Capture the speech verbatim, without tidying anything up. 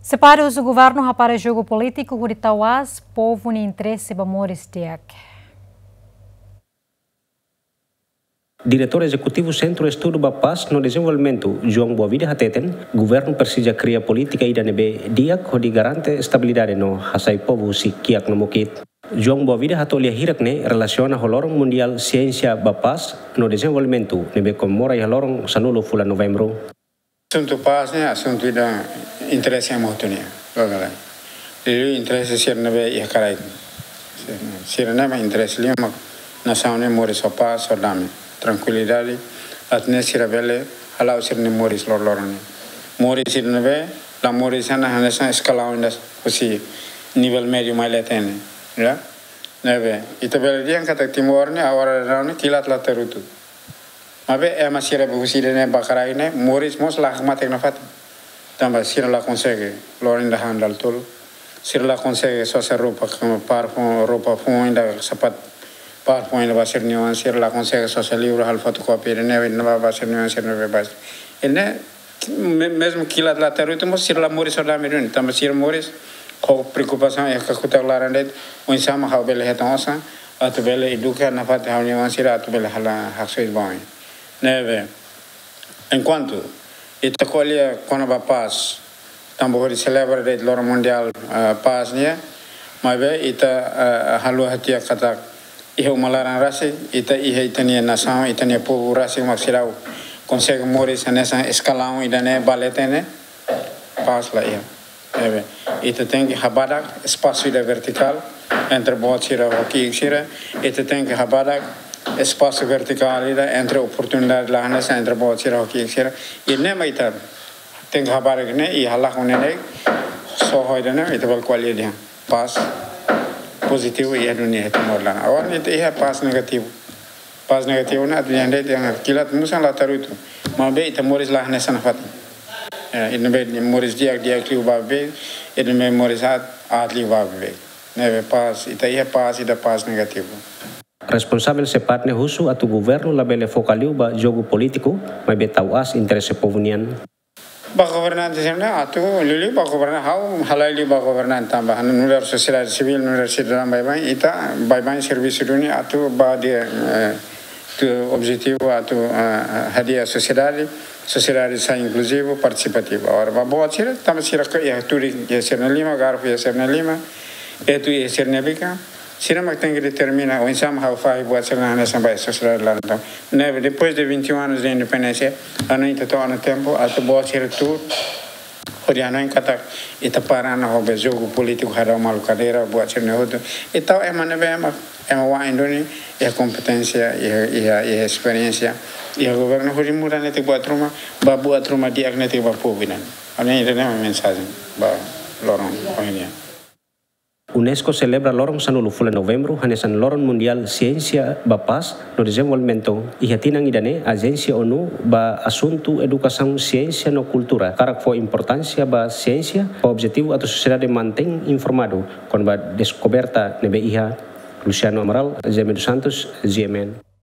SEPAD husu governu hapara jogu polítiku hodi tau aas povu nia interese ba moris di'ak. Diretór Ezekutivu Sentru Estudu ba Pás no Dezenvolvimentu, João Boavida hateten, governu presiza kria polítika ida ne'ebé di'ak hodi garante estabilidade no hasai povu husi kiak no mukit. João Boavida hato'o lia hirak ne'e relasiona ho loron mundiál siénsia ba pás no dezenvolvimentu ne'ebé komemora iha loron sanulu fulan Novembru. Asuntu pás ne'e asuntu ida interese ema hotu nian, logo lai. Liuliu interese sira ne'ebé iha karaik. Sira ne'e mak interese liu mak nasaun ne'e moris ho pás, ho dame, trankuilidade, atu nune'e sira bele hala'o sira-nia moris loroloron nian. Moris sira ne'ebé la moris hanesan, hanesan eskalaun ida husi nivel médiu mai leten, ya. Ne'ebé ita bele dehan katak Timor ne'e agora daudaun ne'e kilat la tarutu. Maibé ema sira be husi ida-ne'e ba karaik ne'e moris mós la hakmatek nafatin. Tanba sira la konsege lori ida han dala tolu. Sira la konsege sosa roupa kama parfum, roupa fuun ida, sapat parfum ida ba sira-nia oan, sira la konsege sosa livru halo fotokópia ida-ne'e, ida ba, ba sira-nia oan, sira-nia bebés. Ida-ne'e, me-, mezmu kilat la tarutu mós sira la moris ho dame duni, tanba sira moris ho preokupasaun iha kakutak laran de'it, oinsá mak ha'u bele hetan osan, atu bele eduka nafatin ha'u-nia oan sira, atu bele halo haksoit ba oin. Ne'ebé, enkuantu ita ko'alia kona-ba pás, tanba hodi selebra de'it loron mundiál, eh, pás nian, maibé ita, eh, haluha tiha katak iha uma laran rasik, ita iha ita-nia nasaun, ita-nia povu rasik mak seidauk konsege moris hanesan eskalaun ida-ne'e ba leten ne'e, pás la iha. Ne'ebé, ita tenke habadak espasu ida vertikál entre boot sira ho ki'ik sira, ita tenke habadak espasu vertikál ida entre oportunidade la hanesan entre boot sira ho ki'ik sira. I ne'e mak ita tenke habadak ne'e, i halakon ne'e, só ho ida-ne'e ita bele ko'alia dehan pás pozitivu iha dunia iha Timor laran. Agora ita iha pás negativu. Pás negativu ne'e atu dehan de'it, dehan kilat musan la tarutu. Maibé ita moris la hanesan nafatin. Eh, ita ne'ebé moris di'ak, di'ak liu ba beibeik, ita ne'ebé moris aat, aat liu ba beibeik. Ne'ebé pás, ita iha pás, ita pás negativu. Responsavel SEPAD ne'e husu atu governu labele foka liu ba jogu polítiku, maibé tau aas interese povu nian. Ba governante sira-ne'e atu liuliu ba governante, ha'u halai liu ba governante tanba nu'udar sosiedade sivíl, nu'udar sidadaun baibain, ita baibain servisu duni atu ba di'ak, eh, atu objetivu atu, eh, hadi'a sosiedade, sosiedade sai inkluzivu, partisipativu. Agora ba boot sira, tanba sira ke iha tudik iha sira-nia liman, garrafa iha sira-nia liman, etu iha sira-nia bikan, sira mak tenke determina oinsá mak ha'u fahe buat sira-ne'e hanesan ba sosiedade laran. Ne'ebé, depois de vinte e um anos de independência, ha'u hanoin ita to'o ona tempu atu boot sira tuur hodi hanoin katak ita para ona ho be jogu polítiku hadau malu kadeira, buat sira-ne'e hotu. Ita tau ema ne'ebé ema, ema wa'in duni, iha kompeténsia, iha, iha, iha esperiénsia, iha governu hodi muda netik buat ruma, ba buat ruma di'ak netik ba povu nian. Ha'u hanoin ida-ne'e mak mensajen ba loron ohin nian. UNESCO selebra loron sanulu fulan Novembru hanesan Loron Mundiál Siénsia ba Pás no Dezenvolvimentu. Iha tinan ida-ne'e, Ajénsia ONU ba Asuntu Edukasaun, Siénsia no Kultura hakarak fó importánsia ba siénsia, ho objetivu atu sosiedade mantein informadu kona-ba deskoberta ne'ebé iha. Luciano Amaral, Jaime dos Santos, G M N.